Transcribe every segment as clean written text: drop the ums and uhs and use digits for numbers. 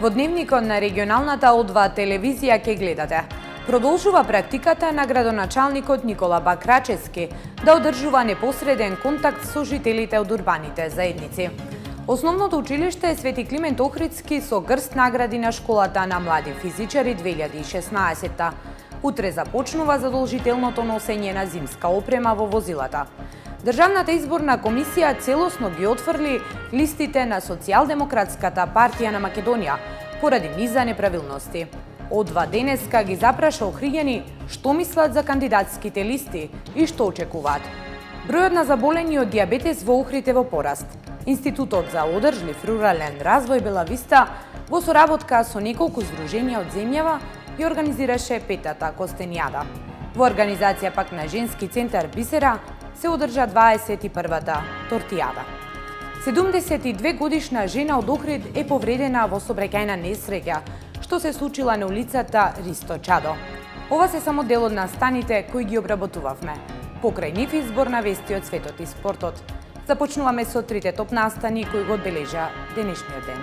Во дневникот на регионалната О2 телевизија ке гледате. Продолжува практиката на градоначалникот Никола Бакрачевски да одржува непосреден контакт со жителите од урбаните заедници. Основното училиште е Свети Климент Охридски со грст награди на школата на млади физичари 2016. Утре започнува задолжителното носење на зимска опрема во возилата. Државната изборна комисија целосно ги отфрли листите на Социјалдемократската партија на Македонија поради низа неправилности. О2 денеска ги запраша охриѓани што мислат за кандидатските листи и што очекуваат. Бројот на заболени од дијабетес во Охрид е во пораст. Институтот за одржлив рурален развој Бела Виста во соработка со неколку здруженија од земјава ја организираше петата Костенијада. Во организација пак на Женски центар Бисера се одржа 21-та Тортијада. 72 годишна жена од Охрид е повредена во сообраќајна несреќа што се случила на улицата Ристо Чадо. Ова се само дел од настаните кои ги обработувавме. Покрај нив избор на вести од светот и спортот. Започнуваме со трите топ настани кои го одбележа денешниот ден.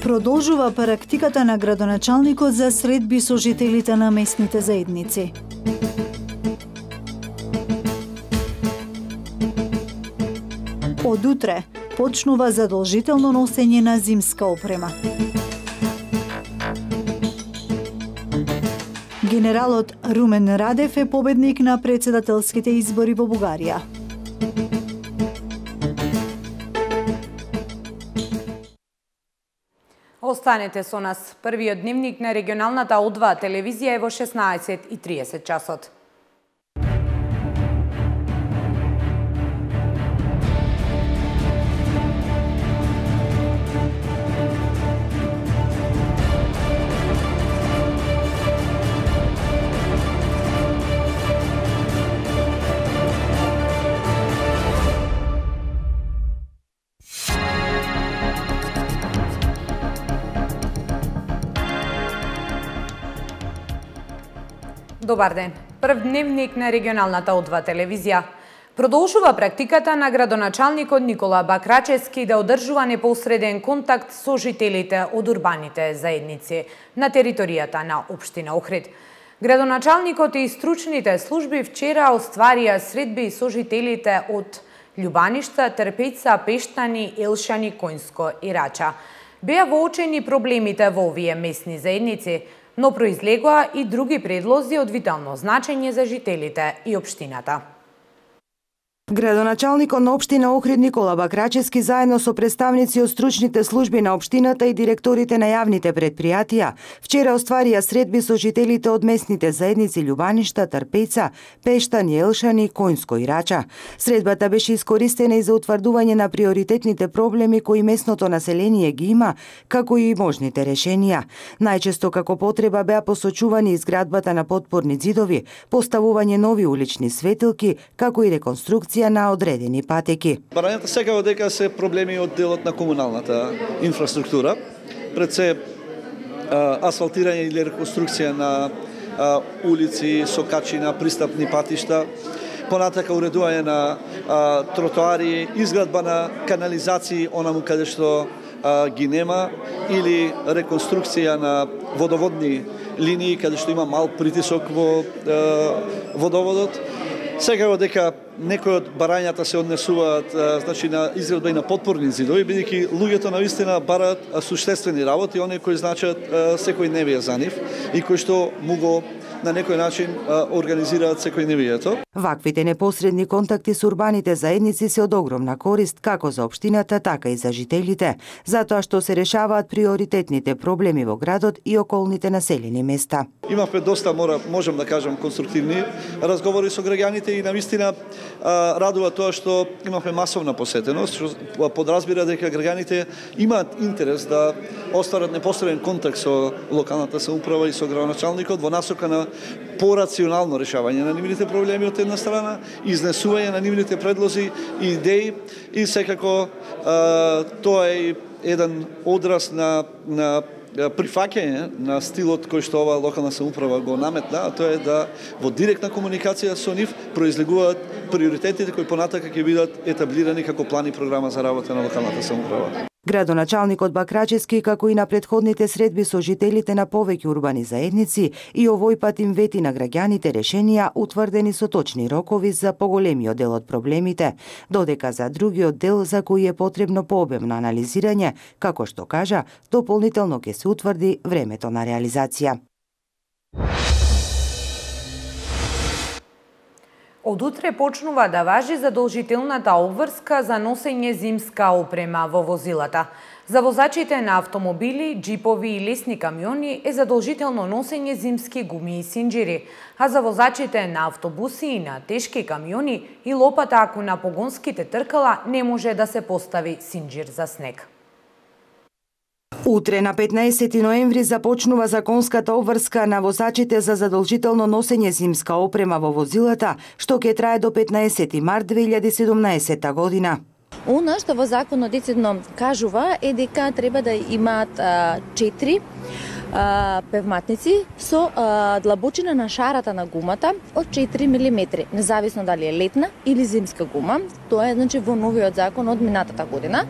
Продолжува практиката на градоначалникот за средби со жителите на местните заедници. Од утре почнува задолжително носење на зимска опрема. Генералот Румен Радев е победник на претседателските избори во Бугарија. Останете со нас. Првиот дневник на регионалната О2 телевизија е во 16:30 часот. Добар ден. Прв дневник на регионалната О2 телевизија. Продолжува практиката на градоначалникот Никола Бакрачевски да одржува непосреден контакт со жителите од урбаните заедници на територијата на општина Охрид. Градоначалникот и стручните служби вчера остварија средби со жителите од Љубаништа, Трпеца, Пештани, Елшани, Коњско и Рача. Беа воочени проблемите во овие местни заедници, но произлегоа и други предлози од витално значење за жителите и општината. Градоначалникот на општина Охрид Никола Бакрачевски заедно со представници од стручните служби на општината и директорите на јавните предпријатија вчера остварија средби со жителите од местните заедници Љубаништа, Трпеца, Пештани, Елшани, Коњско и Рача. Средбата беше искористена и за утврдување на приоритетните проблеми кои местното население ги има, како и можните решенија. Најчесто како потреба беа посочувани изградбата на потпорни ѕидови, поставување нови улични светилки, како и реконструкција на одредени патеки. Барањата секако дека се проблеми од делот на комуналната инфраструктура, пред се асфалтирање или реконструкција на улици, сокачина, пристапни патишта, понатака уредување на тротоари, изградба на канализации онаму каде што ги нема, или реконструкција на водоводни линии каде што има мал притисок во водоводот. Секако дека некои од барањата се однесуваат на изградба и на потпорни ѕидови, бидејќи луѓето навистина бараат суштествени работи, оние кои значат секојдневие за нив и кои што му го на некој начин организираат секојдневието. Ваквите непосредни контакти со урбаните заедници се од огромна корист како за општината, така и за жителите, затоа што се решаваат приоритетните проблеми во градот и околните населени места. Имавме доста, можам да кажам, конструктивни разговори со граѓаните и навистина радува тоа што имавме масовна посетеност, што подразбира дека граѓаните имаат интерес да остварат непосреден контакт со локалната самоуправа и со градоначалникот во насока на порационално решавање на нивните проблеми од една страна, изнесување на нивните предлози и идеи и секако тоа е еден одраз на прифаќање на стилот кој што оваа локална самоуправа го наметна, а тоа е да во директна комуникација со нив произлегуваат приоритетите кои понатака ќе бидат етаблирани како план и програма за работа на локалната самоуправа. Градоначалникот Бакрачевски, како и на претходните средби со жителите на повеќе урбани заедници, и овој пат им вети на граѓаните решенија утврдени со точни рокови за поголемиот дел од проблемите, додека за другиот дел за кој е потребно пообемно анализирање, како што кажа, дополнително ќе се утврди времето на реализација. Од утре почнува да важи задолжителната обврска за носење зимска опрема во возилата. За возачите на автомобили, джипови и лесни камиони е задолжително носење зимски гуми и синџири, а за возачите на автобуси и на тешки камиони и лопата ако на погонските тркала не може да се постави синџир за снег. Утре на 15 ноември започнува законската обврска на возачите за задолжително носење зимска опрема во возилата, што ќе трае до 15 март 2017 година. Она што во законот децидно кажува е дека треба да имаат 4 певматници со длабочина на шарата на гумата од 4 мм, независно дали е летна или зимска гума. Тоа е значи во новиот закон од минатата година.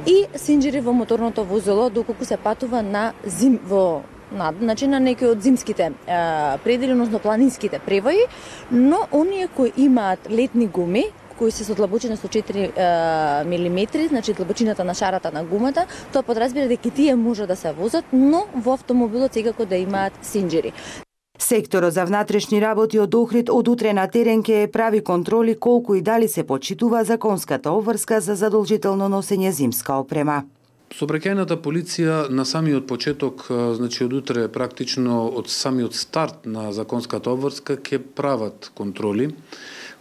И синџири во моторното возило доколку се патува на значи на некои од зимските предели, односно планинските превои, но оние кои имаат летни гуми, кои се со длабочина со 4 мм, значи длабочината на шарата на гумата, тоа подразбира дека тие може да се возат, но во автомобилот секако да имаат синџири. Секторот за внатрешни работи од Охрид од утре на терен ќе прави контроли колку и дали се почитува законската обврска за задолжително носење зимска опрема. Сообраќајната полиција на самиот почеток, значи од утре практично од самиот старт на законската обврска ќе прават контроли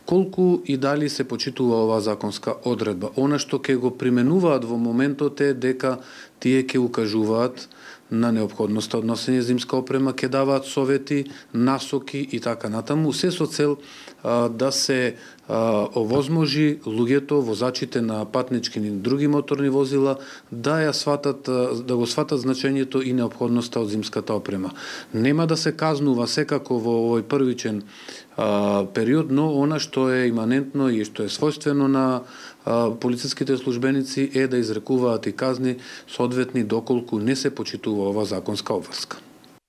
колку и дали се почитува оваа законска одредба. Она што ќе го применуваат во моментот е дека тие ќе укажуваат на неопходноста од носење зимска опрема, ќе даваат совети, насоки и така натаму, се со цел да се овозможи луѓето, возачите на патнички и други моторни возила да го сватат значењето и неопходноста од зимската опрема. Нема да се казнува секако во овој првичен период, но она што е иманентно и што е својствено на полициските службеници е да изрекуваат и казни соодветни доколку не се почитува ова законска обврска.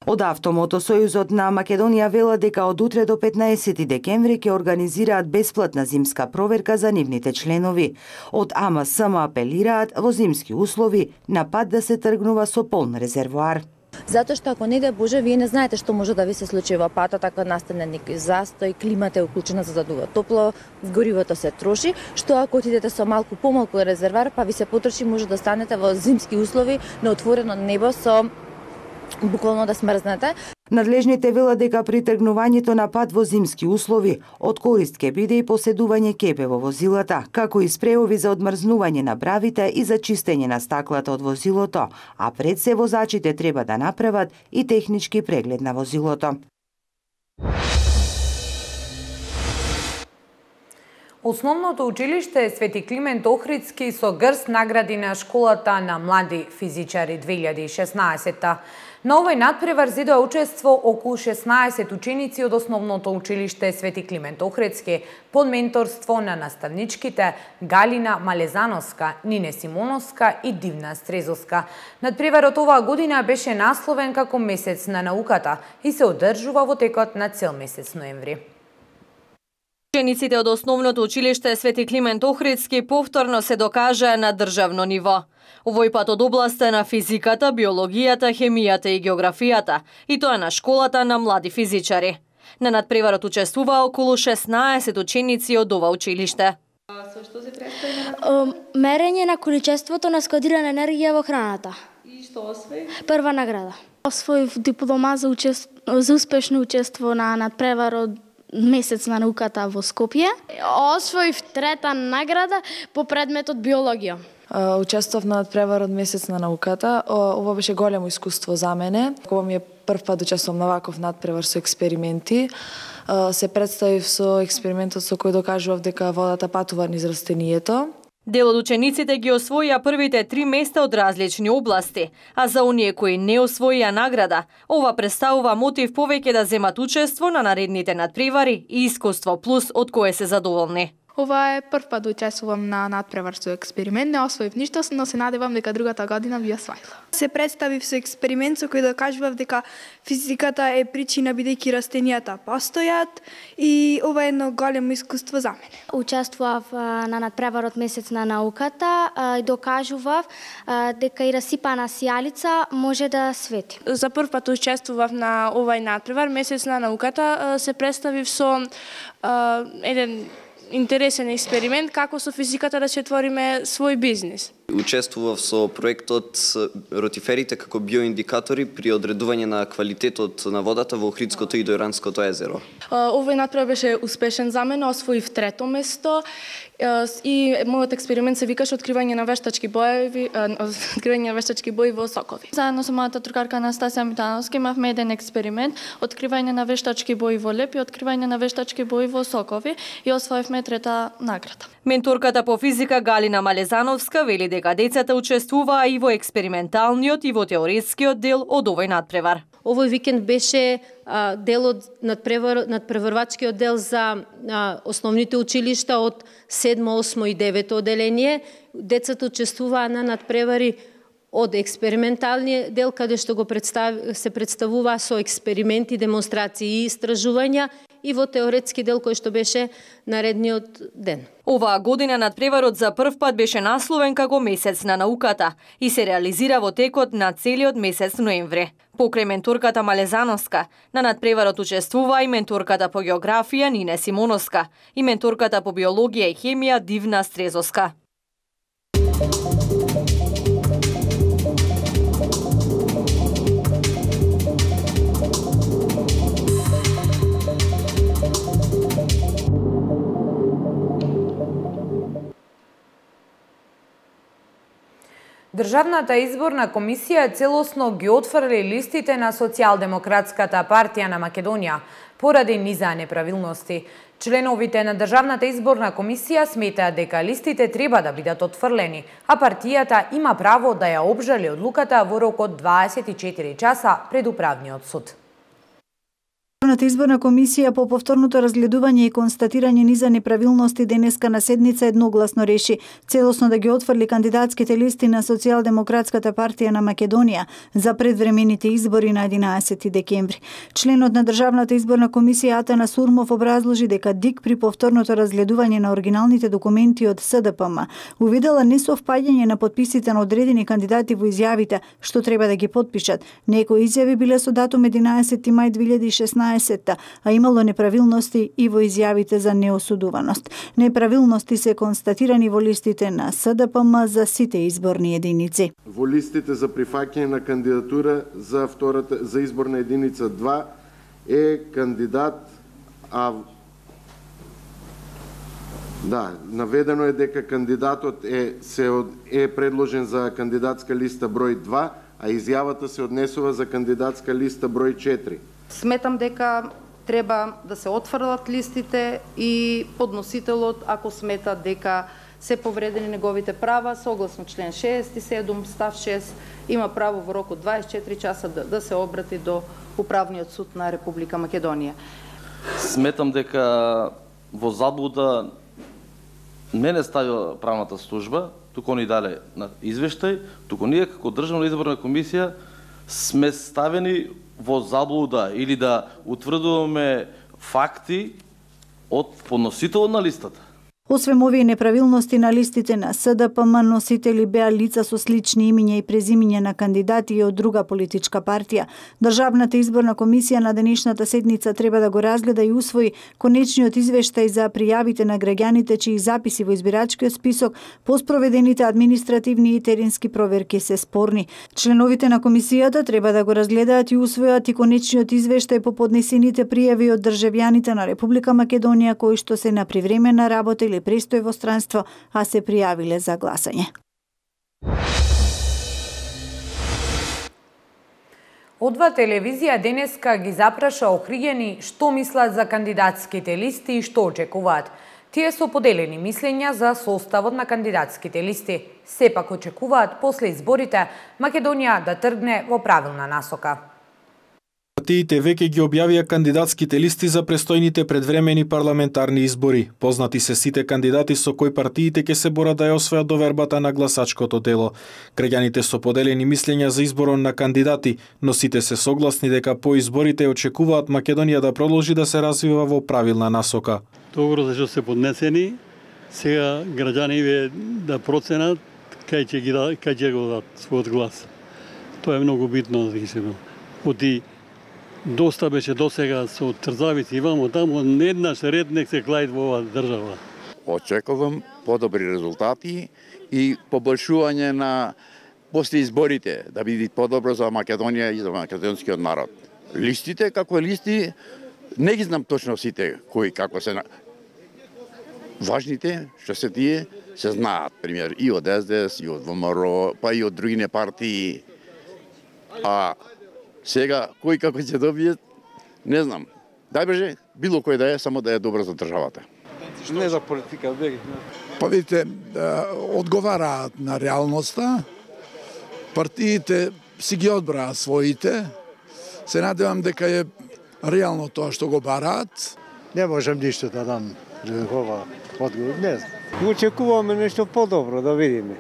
Од Автомотосојузот на Македонија велат дека од утре до 15 декември ќе организираат бесплатна зимска проверка за нивните членови. Од АМСМ апелираат во зимски услови на пат да се тргнува со полн резервоар. Затоа што ако не дај Боже, вие не знаете што може да ви се случи во патот, ако настане некој застој, климата е уклучена за да дува топло, горивото се троши, што ако отидете со малку помалку резервоар, па ви се потроши, може да станете во зимски услови на отворено небо со буквално да смрзнете. Надлежните велат дека при тргнувањето на пат во зимски услови од корист ќе биде и поседување кепе во возилата, како и спреови за одмрзнување на бравите и за чистење на стаклата од возилото, а пред се возачите треба да направат и технички преглед на возилото. Основното училиште Свети Климент Охридски со грст награди на школата на млади физичари 2016. На овој надпревар зедоа учество околу 16 ученици од основното училиште Свети Климент Охридски под менторство на наставничките Галина Малезановска, Нине Симоновска и Дивна Стрезовска. Надпреварот оваа година беше насловен како Месец на науката и се одржува во текот на цел месец ноември. Учениците од основното училиште Свети Климент Охридски повторно се докажаа на државно ниво. Овој пат од областа на физиката, биологијата, хемијата и географијата, и тоа на школата на млади физичари. На надпреварот учествуваа околу 16 ученици од ова училиште. Мерење на количеството на складирана енергија во храната. И што освои? Прва награда. Освоив диплома за успешно учество на надпреварот Месец на науката во Скопје. Освоив трета награда по предметот биологија. Учествував на надпреварот Месец на науката. Ова беше големо искуство за мене. Ова ми е прв пат учествувам на ваков надпревар со експерименти. Се представив со експериментот со кој докажував дека водата патува низ растението. Дел од учениците ги освоија првите 3 места од различни области, а за оние кои не освоија награда, ова представува мотив повеќе да земат учество на наредните надпревари и искуство плюс од кое се задоволни. Ова е прв пат да учествувам на надпревар со експеримент, не освоив ништо, но се надевам дека другата година би освоила. Се представив со експеримент со кој докажував дека физиката е причина бидејќи растенијата постојат и ова е едно големо искуство за мене. Учествував на надпреварот Месец на науката и докажував дека и расипана сијалица може да свети. За прв пат учествував на овај надпревар Месец на науката, се представив со еден интересен експеримент како со физиката да се твориме свој бизнис. Учествував со проектот ротиферите како биоиндикатори при одредување на квалитетот на водата во Охридското и Дојранското езеро. Овој надпревар беше успешен за мене, освоив 3-то место и мојот експеримент се викаше откривање на вештачки бои во сокови. Заедно со мојата другарка Анастасија Митановска имавме еден експеримент, откривање на вештачки бои во леп и откривање на вештачки бои во сокови и освоивме 3-та награда. Менторката по физика Галина Малезановска вели дека децата учествуваа и во експерименталниот и во теоретскиот дел од овој надпревар. Овој викенд беше дел од надпреварвачкиот дел за основните училишта од 7, 8 и 9 оделение. Децата учествуваа на надпревари од експерименталниот дел, каде што се представува со експерименти, демонстрации и истражувања, и во теоретски дел кој што беше наредниот ден. Оваа година надпреварот за прв пат беше насловен како Месец на науката и се реализира во текот на целиот месец ноември. Покрај менторката Малезановска, на надпреварот учествува и менторката по географија Нине Симоновска и менторката по биологија и хемија Дивна Стрезовска. Државната изборна комисија целосно ги отфрли листите на Социјалдемократската партија на Македонија поради низа неправилности. Членовите на Државната изборна комисија сметаат дека листите треба да бидат отфрлени, а партијата има право да ја обжали одлуката во рок од 24 часа пред управниот суд. Државната изборна комисија по повторното разгледување и констатирање низа неправилности денеска на седница едногласно реши целосно да ги отфрли кандидатските листи на Социјалдемократската партија на Македонија за предвремените избори на 11 декември. Членот на Државната изборна комисија Атана Сурмов образложи дека ДИК при повторното разгледување на оригиналните документи од СДПМ увидела несовпаѓање на подписите на одредени кандидати во изјавите што треба да ги потпишат. Некои изјави биле со датум 11 мај 2016, а имало неправилности и во изјавите за неосудуваност. Неправилности се констатирани во листите на СДПМ за сите изборни единици. Во листите за прифаќање на кандидатура за изборна единица 2 е кандидат наведено е дека кандидатот е предложен за кандидатска листа број 2, а изјавата се однесува за кандидатска листа број 4. Сметам дека треба да се отфрлат листите и подносителот, ако смета дека се повредени неговите права, согласно член 67 став 6, има право во рок од 24 часа да се обрати до Управниот суд на Република Македонија. Сметам дека во заблуда не ставила правната служба, туку ни дале на извештај, туку ние како Државна изборна комисија сме ставени во заблуда или да утврдуваме факти од подносителот на листата. Освен овие неправилности на листите на СДПМ, носители беа лица со слични имиња и презимиња на кандидати од друга политичка партија. Државната изборна комисија на денешната седница треба да го разгледа и усвои конечниот извештај за пријавите на граѓаните чии записи во избирачкиот список по спроведените административни и теренски проверки се спорни. Членовите на комисијата треба да го разгледаат и усвојат и конечниот извештај по поднесените пријави од државјаните на Република Македонија кои што се на привремена работа или престој во странство, а се пријавиле за гласање. Одва телевизија денеска ги запраша охриѓени што мислат за кандидатските листи и што очекуваат. Тие со поделени мислења за составот на кандидатските листи. Сепак очекуваат после изборите Македонија да тргне во правилна насока. Партиите веќе ги објавија кандидатските листи за престојните предвремени парламентарни избори. Познати се сите кандидати со кои партиите ќе се борат да ја освојат довербата на гласачкото дело. Граѓаните со поделени мислења за изборот на кандидати, но сите се согласни дека по изборите очекуваат Македонија да продолжи да се развива во правилна насока. Добро зашто се поднесени, сега граѓаните да проценат кај ќе го дадат својот глас. Тоа е многу битно, оти доста беше досега со трзавици вамо таму, еднаш реднек се клајат во оваа држава. Очекувам подобри резултати и поболшување на после изборите, да биде подобро за Македонија и за македонскиот народ. Листите, како листи, не ги знам точно сите кои како се важните, што се тие, се знаат, пример, и од СДС, и од ВМРО, па и од другите партии. А сега, кој како ќе добие, не знам. Дај боже, било кој да е, само да е добро за државата. Не за политика, беги. Па видите, одговараат на реалноста, партиите си ги одбраат своите, се надевам дека е реално тоа што го бараат. Не можам ништо да дам ова одговор, не знам. Очекуваме нешто подобро, да видиме.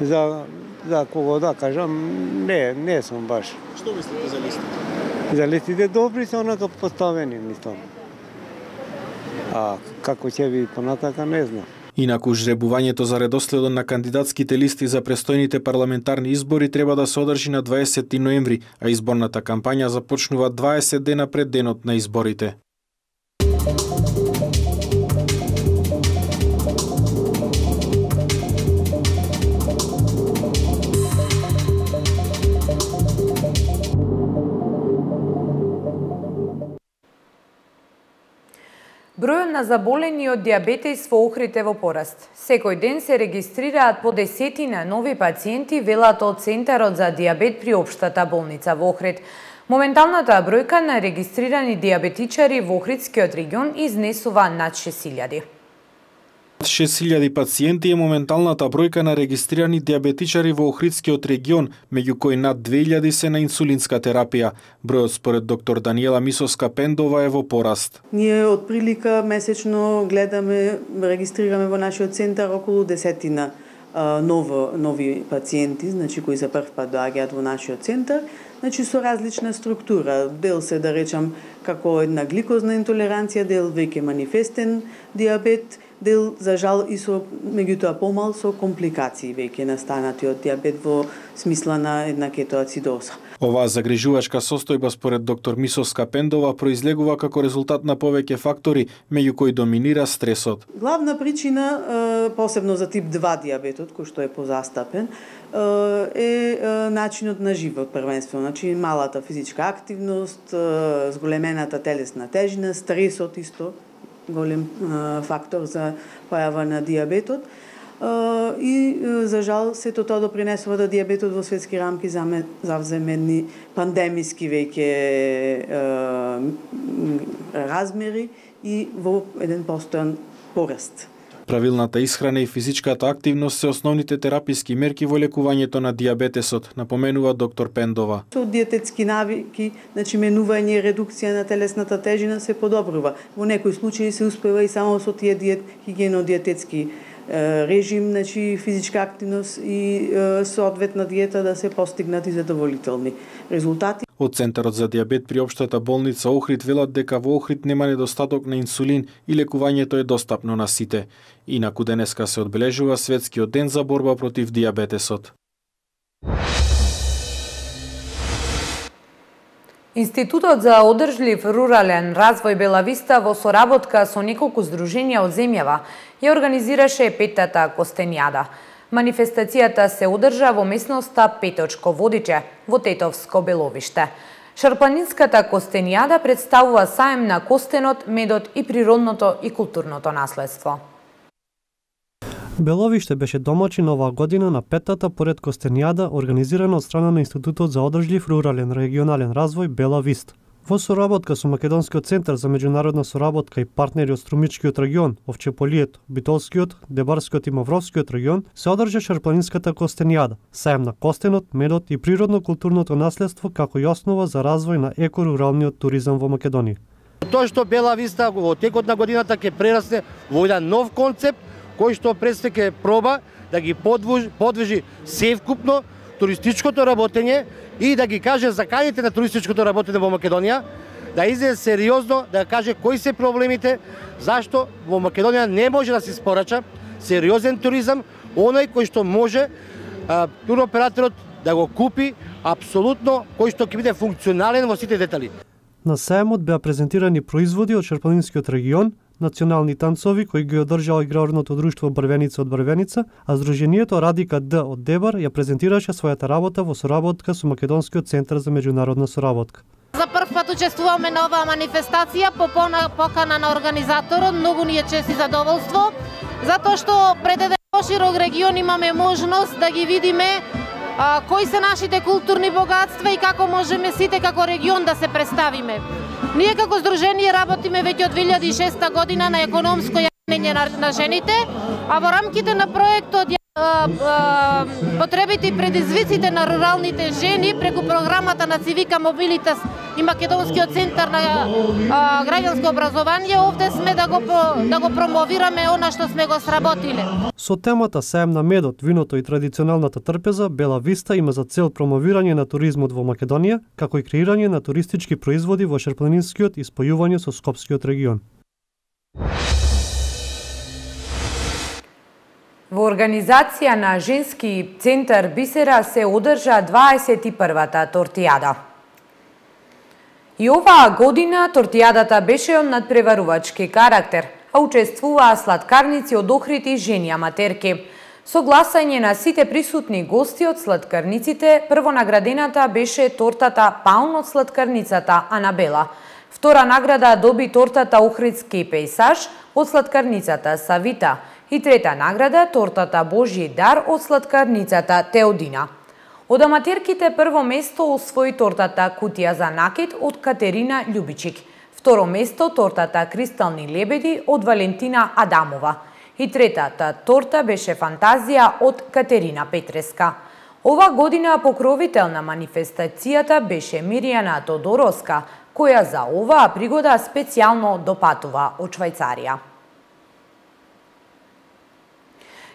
За кого да кажам, не сум баш. Што мислите за листите? За листите добри се онака поставени, мислам. А како ќе биде понатака, не знам. Инаку жребувањето за редоследот на кандидатските листи за престојните парламентарни избори треба да се одржи на 20 ноември, а изборната кампања започнува 20 дена пред денот на изборите. Бројот на заболени од диабетес во Охрид е во пораст. Секој ден се регистрираат по десетина нови пациенти, велат од Центарот за диабет при Општата болница во Охрид. Моменталната бројка на регистрирани диабетичари во Охридскиот регион изнесува над 6.000. 6.000 пациенти е моменталната бројка на регистрирани диабетичари во Охридскиот регион, меѓу кои над 2.000 се на инсулинска терапија. Бројот според доктор Даниела Мисовска-Пендова е во пораст. Ние од прилика месечно гледаме, регистрираме во нашиот центар околу десетина нови пациенти, значи кои за прв пат доаѓаат во нашиот центар, значи со различна структура. Дел се, да речам, како една гликозна интолеранција, дел веќе манифестен диабет, дел, за жал, и со, меѓутоа помал, со компликации веќе настанати од диабет во смисла на една кетоацидоза. Оваа загрижувачка состојба според доктор Мисовска-Пендова произлегува како резултат на повеќе фактори, меѓу кои доминира стресот. Главна причина, посебно за тип 2 диабетот, кој што е позастапен, е начинот на живот првенствено, значи малата физичка активност, зголемената телесна тежина, стресот исто голем фактор за појава на диабетот. И за жал сето тоа допринесува да диабетот во светски рамки завземе едни пандемиски веќе размери и во еден постојан пораст. Правилната исхрана и физичката активност се основните тераписки мерки во лекувањето на диабетесот, напоменува доктор Пендова. Со диететски навики, значи менување и редукција на телесната тежина се подобрува. Во некои случаи се успева и само со тие хигиено-диететски режим, значи физичка активност и соодветна диета да се постигнати задоволителни резултати. Од Центарот за диабет при Општата болница Охрид велат дека во Охрид нема недостаток на инсулин и лекувањето е достапно на сите. Инаку денеска се одбележува Светскиот ден за борба против диабетесот. Институтот за одржлив рурален развој Бела Виста во соработка со неколку здруженија од земјава ја организираше 5-та Костенјада. Манифестацијата се одржа во месноста Петочко Водиче, во Тетовско Беловиште. Шарпланинската Костенјада представува саем на костенот, медот и природното и културното наследство. Беловиште беше домаќин оваа година на 5-та поред Костенјада, организирана од страна на Институтот за одржлив рурален регионален развој Бела Виста. Во соработка со Македонскиот центар за меѓународна соработка и партнери од Струмичкиот регион, Овчеполието, Битолскиот, Дебарскиот и Мавровскиот регион се одржа Шарпланинската костенијада, сајм на костенот, медот и природно-културното наследство како и основа за развој на еко-руралниот туризам во Македонија. Тоа што Бела Виста во текот на годината ќе прерасне во еден нов концепт кој што предстои ќе проба да ги подвижи севкупно туристичкото работење и да ги каже заканите на туристичкото работење во Македонија, да излезе сериозно да каже кои се проблемите, зашто во Македонија не може да се испорача сериозен туризам, оној кој што може туроператорот да го купи апсолутно, кој што ќе биде функционален во сите детали. На сајмот беа презентирани производи од Шарпланинскиот регион, национални танцови кои ги одржала играрното друштво Брвеница од Брвеница, а Сдруженијето Радика Д од Дебар ја презентираше својата работа во соработка со Македонскиот центар за меѓународна соработка. За прв пат учествуваме на оваа манифестација по покана на организаторот. Многу ни е чест и задоволство, затоа што пред еден поширок регион имаме можност да ги видиме кои се нашите културни богатства и како можеме сите како регион да се представиме. Ние како здружение работиме веќе од 2006 година на економско јавнење на жените, а во рамките на проектот потребите и предизвиците на руралните жени преку програмата на Цивика Мобилитас и Македонскиот центар на граѓанско образование, овде сме да го промовираме она што сме го сработиле. Со темата Сајм на медот, виното и традиционалната трпеза, Бела Виста има за цел промовирање на туризмот во Македонија, како и креирање на туристички производи во Шарпланинскиот и спојување со Скопскиот регион. Во организација на Женски центар Бисера се одржа 21-та тортијада. И оваа година тортијадата беше од надпреварувачки карактер, а учествуваа сладкарници од Охрид и жени аматерки. Со гласање на сите присутни гости од сладкарниците, првонаградената беше тортата Паун од сладкарницата Анабела. Втора награда доби тортата Охридски пејсаж од сладкарницата Савита. И трета награда тортата Божји дар од сладкарницата Теодина. Од аматерките прво место освои тортата Кутија за накид од Катерина Љубичик. Второ место тортата Кристални лебеди од Валентина Адамова. И третата торта беше Фантазија од Катерина Петреска. Ова година покровител на манифестацијата беше Миријана Тодороска, која за оваа пригода специјално допатува од Швајцарија.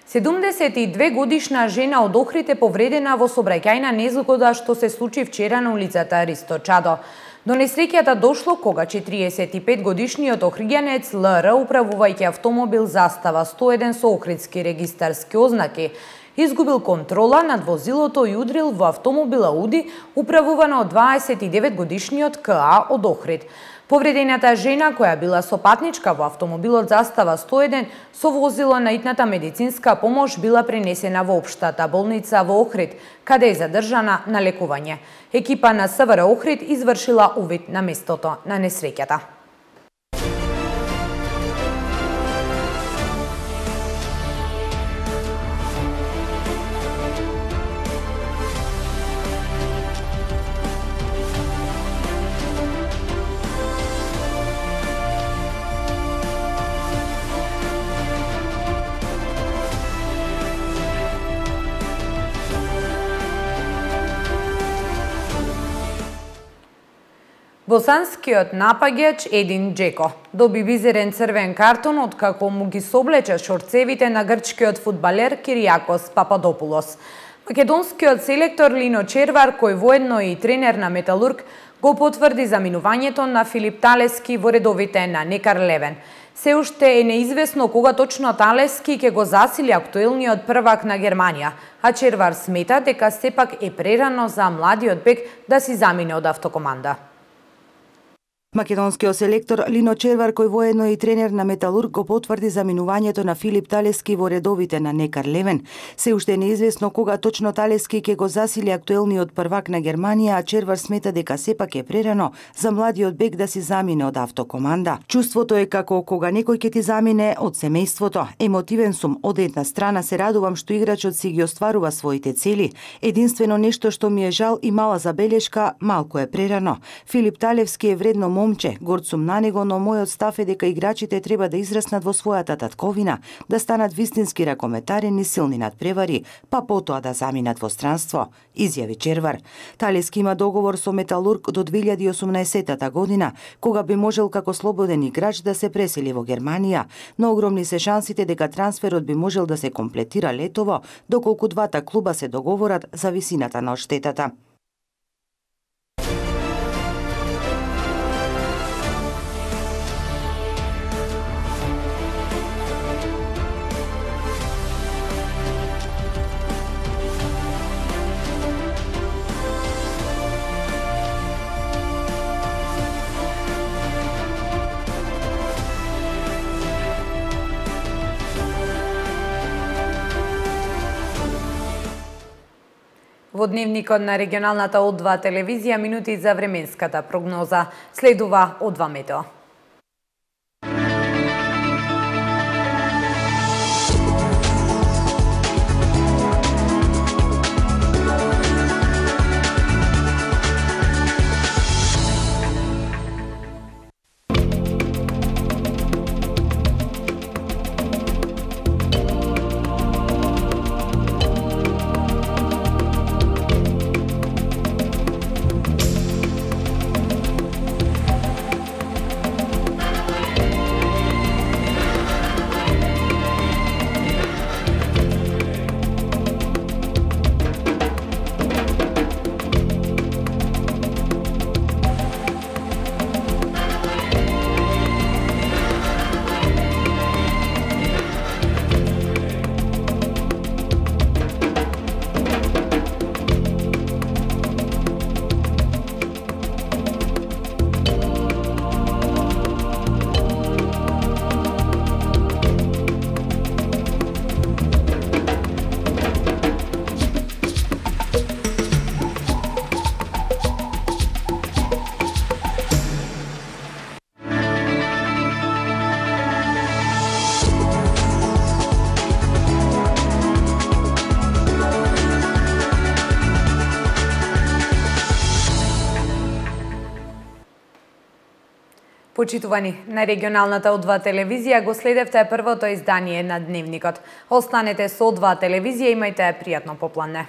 72 годишна жена од Охрид е повредена во сообраќајна незгода што се случи вчера на улицата Ристо Чадо. До несреќата дошло кога 45 годишниот охриѓанец ЛР, управувајќи автомобил Застава 101 со охридски регистарски ознаки, изгубил контрола над возилото и удрил во автомобила Ауди, управувано од 29 годишниот КА од Охрид. Повредената жена, која била сопатничка во автомобилот Застава 101 со возило на итната медицинска помош, била пренесена во општата болница во Охрид, каде е задржана на лекување. Екипа на СВР Охрид извршила увид на местото на несреќата. Босанскиот напаѓач Един Джеко доби визерен црвен картон откако му ги соблече шорцевите на грчкиот фудбалер Кириакос Пападопулос. Македонскиот селектор Лино Червар, кој воедно и тренер на Металург, го потврди заминувањето на Филип Талески во редовите на Некар Левен. Се уште е неизвестно кога точно Талески ќе го засили актуелниот првак на Германија, а Червар смета дека сепак е прерано за младиот бек да си замине од автокоманда. Македонскиот селектор Лино Червар, кој воедно и тренер на Металург, го потврди заминувањето на Филип Талески во редовите на Некар Левен. Се уште е неизвестно кога точно Талески ќе го засили актуелниот првак на Германија, а Червар смета дека сепак е прерано за младиот бек да си замине од автокоманда. Чувството е како кога некој ќе ти замине од семејството. Емотивен сум, од една страна се радувам што играчот си ги остварува своите цели. Единствено нешто што ми е жал и мала забелешка, малку е прерано. Филип Талевски е вредно момче, горд сум на него, но мојот став е дека играчите треба да израснат во својата татковина, да станат вистински ракометарени, силни надпревари, па потоа да заминат во странство, изјави Червар. Талески има договор со Металург до 2018 година, кога би можел како слободен играч да се пресели во Германија, но огромни се шансите дека трансферот би можел да се комплетира летово, доколку двата клуба се договорат за висината на одштетата. Во дневникот на регионалната О2 телевизија минути за временската прогноза. Следува О2 метео. Почитувани, на регионалната О2 телевизија го следевте првото издание на Дневникот. Останете со О2 телевизија, имајте пријатно попладне.